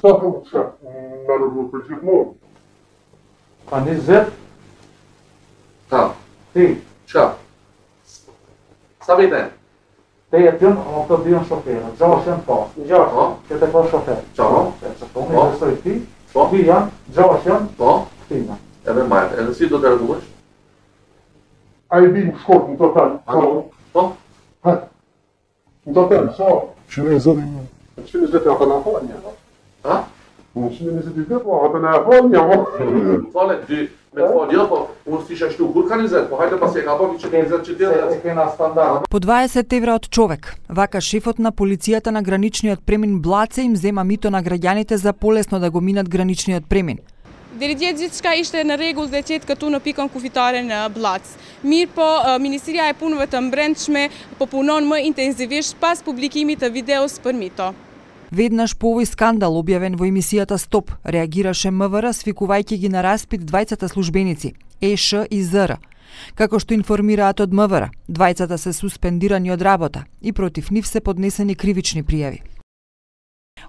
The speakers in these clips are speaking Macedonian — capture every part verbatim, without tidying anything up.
Што се народно причитно? Pa ni Z, Tá. T. Tchau. Sabe então? T je pjön, on to bjön chauffeur. Jochen på. Ja. Che te ko chauffeur. Ja. Så kom ni så i ti. Ja. Bian, Jochen, Bom. Tina. É bem mais. É assim do cara duas. Ai bem escorto no total. Bom. No total, só. Chinesa. Chinesa tem a Polônia. Hã? Chinesa tem a Polônia. Fala de met voordeel van ons die zes toe goed gaan inzetten. Maar hij dat pas je gaat niet checken inzet je deel. По дваесет евра од човек, вака шефот на полицијата на граничниот премин Блаце им зема мито на граѓаните за полесно да го минат граничниот премин. Deri gjithë gjithçka ishte në rregull dhe qetë këtu në pikën kufitare në Blac. Mirë po, Ministria e Punëve të Brendshme po punon më intenzivisht pas publikimit të videos për mito. Веднаш по овој скандал објавен во емисијата Стоп, реагираше МВР свикувајќи ги на распит двајцата службеници, ЕШ и ЗР. Како што информираат од МВР, двајцата се суспендирани од работа и против нив се поднесени кривични пријави.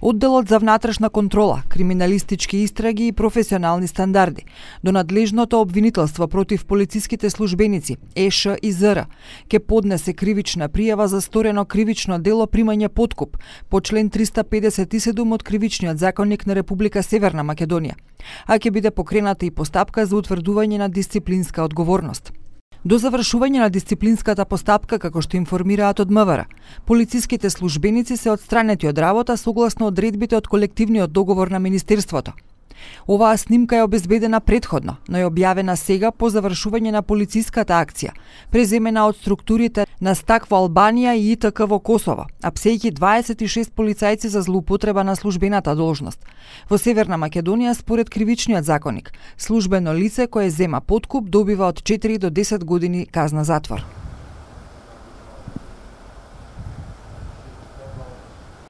Одделот за внатрешна контрола, криминалистички истраги и професионални стандарди, до надлежното обвинителство против полициските службеници, ЕШ и ЗР, ке поднесе кривична пријава за сторено кривично дело примање подкуп по член триста педесет и седум од Кривичниот законник на Република Северна Македонија, а ќе биде покрената и постапка за утврдување на дисциплинска одговорност. До завршување на дисциплинската постапка, како што информираат од МВР, полициските службеници се отстранети од работа согласно одредбите од колективниот договор на Министерството. Оваа снимка е обезбедена предходно, но е објавена сега по завршување на полициската акција, преземена од структурите на Стак во Албанија и ИТК во Косово, апсејќи дваесет и шест полицајци за злоупотреба на службената должност. Во Северна Македонија, според Кривичниот законник, службено лице кое зема подкуп добива од четири до десет години казна затвор.